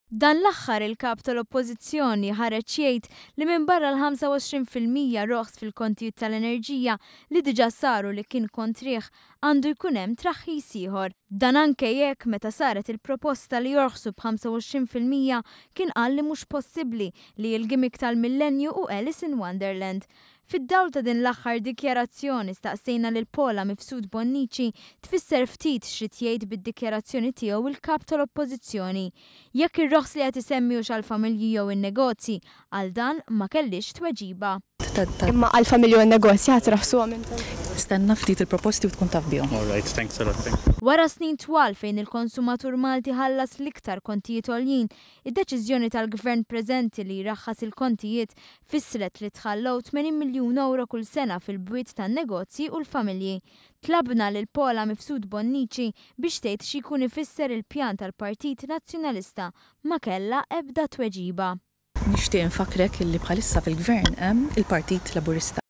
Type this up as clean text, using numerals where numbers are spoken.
Dan l-aħħar il-Kap tal-Oppożizzjoni ħareġ jgħid li minbarra l-25% roħs fil-kontijiet tal-enerġija li diġà saru li kien kontrih, għandu jkun hemm traħħis ieħor. Dan anke jekk meta saret il-proposta li jorħsu b'25% kien qal li mhux possibbli, li l-gimmick tal-millennju hu Alice in Wonderland. Fid-dawl ta' din l-aħħar dikjarazzjoni staqsejna lil Paula Mifsud Bonnici tfisser ftit x'ried jgħid bid-dikjarazzjoni tiegħu il-Kap tal-Oppożizzjoni. Jekk ir-roħs li qed isemmi hux għall-familji jew in-negozji, għal dan ma kellhiex tweġiba. Imma għall-familji u n-negozji ħa traħħsuhom intom? Stenna ftit il-proposti u tkun taf bihom. All right, thanks a lot. Thank you. Wara snin twal fejn il-konsumatur Malti ħallas l-iktar kontijiet għoljin, Id-deċiżjoni tal-Gvern preżenti li jraħħas il-kontijiet fissret li tħallew 80 miljun ewro kull sena fil-bwiet tan-negozji u l-familji. Tlabna lil Paula Mifsud Bonnici biex tgħid xi jkun ifisser il-pjan tal-Partit Nazzjonalista. Ma kellha ebda tweġiba. Nixtieq infakkrek illi bħalissa fil-Gvern hemm il-Partit Laburista.